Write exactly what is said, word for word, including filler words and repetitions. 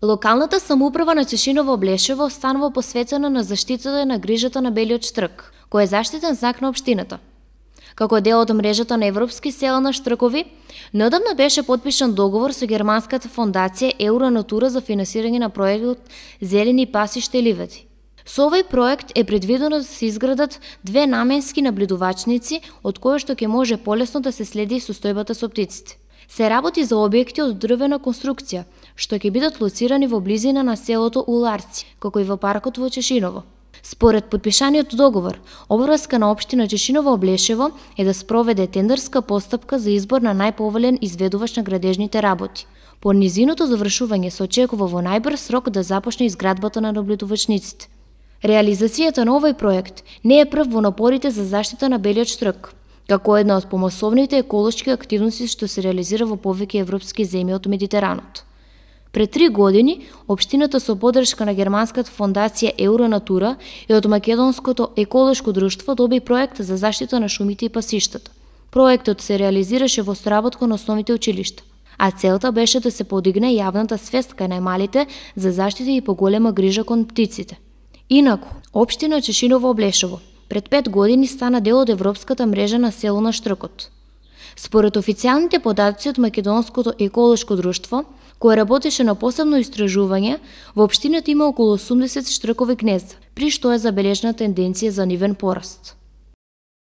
Локалната самоуправа на Чешиново Облешево останува посветена на заштитата и на грижата на белиот штрк, кој е заштитен знак на општината. Како дел од мрежата на европски села на штркови, неодамна беше подпишан договор со германската фондација Евронатура за финансирање на проектот Зелени пасишта и ливади. Со овој проект е предвидено да се изградат две наменски наблюдувачници, од кои што ќе може полесно да се следи состојбата со птиците. Се работи за објекти од дрвена конструкција, што ќе бидат лоцирани во близина на селото Уларци, како и во паркот во Чешиново. Според подпишаниот договор, обврска на општина Чешиново Облешево е да спроведе тендерска постапка за избор на најповолен изведувач на градежните работи. По низиното завршување се очекува во најбрз срок да започне изградбата на наблюдувачниците. Реализацијата на овој проект не е прв во напорите за заштита на белиот штрк, како една од помасовните еколошки активности што се реализира во повеќе европски земји од Медитеранот. Пред три години, општината со поддршка на германската фондација Евронатура и од Македонското еколошко друштво доби проект за заштита на шумите и пасиштата. Проектот се реализираше во соработка на основните училишта, а целта беше да се подигне јавната свест кај најмалите за заштита и поголема грижа кон птиците. Инаку, општина Чешиново Облешево пред пет години стана дел од европската мрежа на село на штркот. Според официјалните податоци од Македонското еколошко друштво, кој работеше на посебно истражување, во општината има околу осумдесет штркови гнезда, при што е забележна тенденција за нивен пораст.